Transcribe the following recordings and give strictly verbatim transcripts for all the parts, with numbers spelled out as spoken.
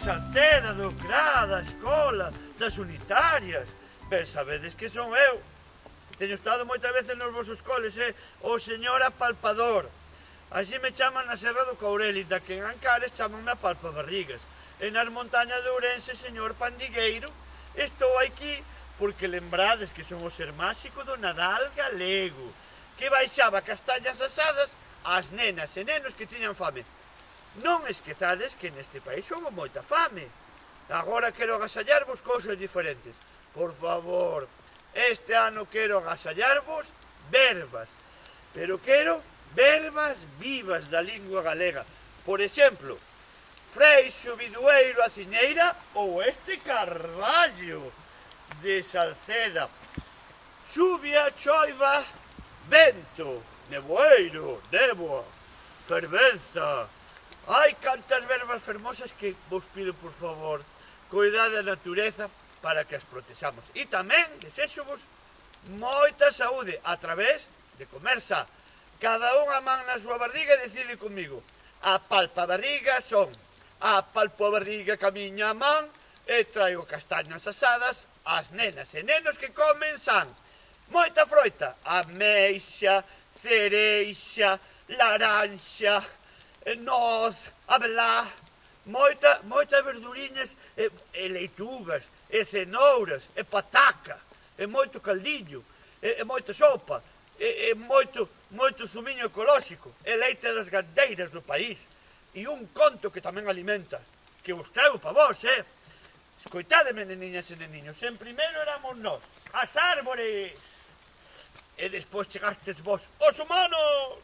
Salceda, do C R A, da escola, das unitarias. Ben, sabedes que son eu. Teño estado moitas veces nos vosos coles, eh? O señor apalpador. Así me chaman na Serra do Courel, e da que en Ancares chamanme apalpabarrigas. E nas montañas de Ourense, señor pandigueiro. Estou aquí porque lembrades que son o ser máxico do Nadal galego, que baixaba castañas asadas ás nenas e nenos que tiñan fame. Non esquezades que neste país houve moita fame. Agora quero agasallarvos cousas diferentes. Por favor, este ano quero agasallarvos verbas. Pero quero verbas vivas da lingua galega. Por exemplo, Freixo, Bidueiro, Aciñeira ou este Carballo de Salceda. Xuvia, choiva, vento, nevoeiro, néboa, fervenza. Hai cantas verbas fermosas que vos pido, por favor, coidade da natureza para que as protexamos. E tamén desexo-vos moita saúde a través de comer sa. Cada unha man na súa barriga e decide comigo. A palpa barriga son a palpo a barriga que a miña man e traigo castañas asadas ás nenas e nenos que comen san. Moita froita, ameixa, cereixa, laranxa, noz, abelá, moita, moita verduriñas e, e leitugas, e cenouras, e pataca, e moito caldillo, e, e moita sopa, e, e moito, moito zumiño ecolóxico, e leite das gandeiras do país, e un conto que tamén alimenta, que vos trago pa vos, eh? Escoitádeme, neniñas e neniños, en primeiro éramos nós, as árbores, e despois chegastes vos, os humanos,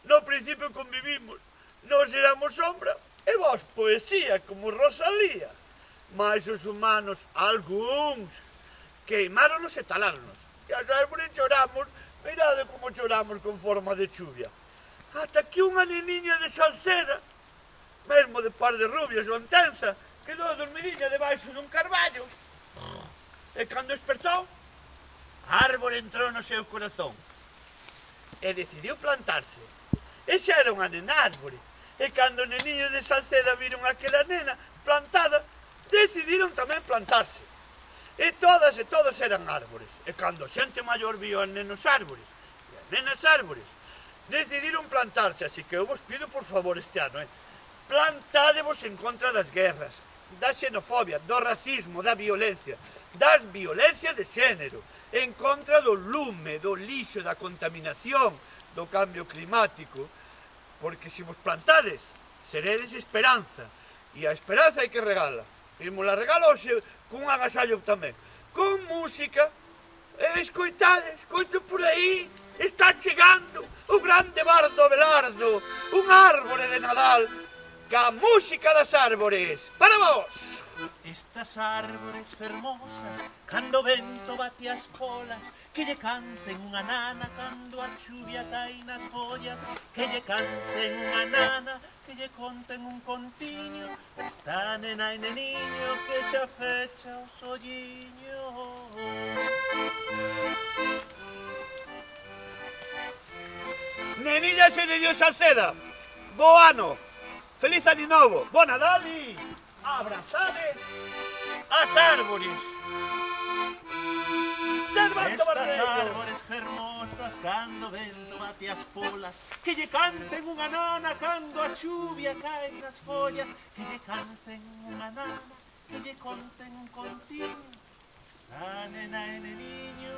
no principio convivimos, nos éramos sombra, e vos poesía, como Rosalía. Mas os humanos, algúns, queimáronos e taláronos. E as árbores choramos, mirade como choramos con forma de chuvia. Ata que unha neniña de Salceda, mesmo de par de rubias ou entenza, quedou dormidinha debaixo dun carballo. E cando despertou, a árbore entrou no seu corazón e decidiu plantarse. E xa era unha nena árbore. E cando os neniños de Salceda viron aquela nena plantada, decidiron tamén plantarse. E todas e todos eran árbores. E cando a xente maior viu as nenos árbores e as nenas árbores, decidiron plantarse. Así que eu vos pido por favor este ano, eh? Plantádevos en contra das guerras, da xenofobia, do racismo, da violencia, das violencias de xénero, en contra do lume, do lixo, da contaminación, do cambio climático, porque se vos plantades, seredes esperanza, e a esperanza hai que regala. E mo la regalo hoxe cun agasallo tamén, con música, e escoitades, escoito por aí, está chegando o grande bardo Abelardo, un árbore de Nadal, ca música das árbores, para vos! Estas árbores fermosas, cando o vento bate as polas, que lle canten unha nana cando a chuvia cai nas follas, que lle canten unha nana, que lle conten un contiño, esta nena e neniño que xa fecha os olliños. Neniñas e niños Salceda, bo ano, feliz ano novo, bo Nadal e abrazade as árbores. Estas árbores fermosas, cando o vento bate as polas, que lle canten unha nana cando a chuvia cae nas follas, que lle canten unha nana, que lle conten un contiño, esta nena e neniño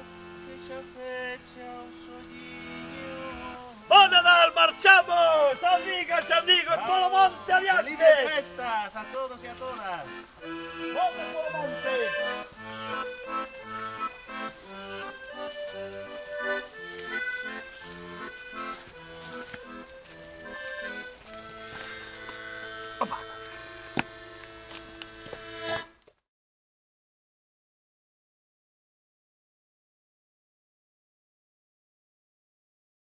que xa fecha os olliños. Bo Nadal, marchamos, amigas e amigos, polo monte adiante. Felices festas a todos e a todas. Vamos polo monte. Opa.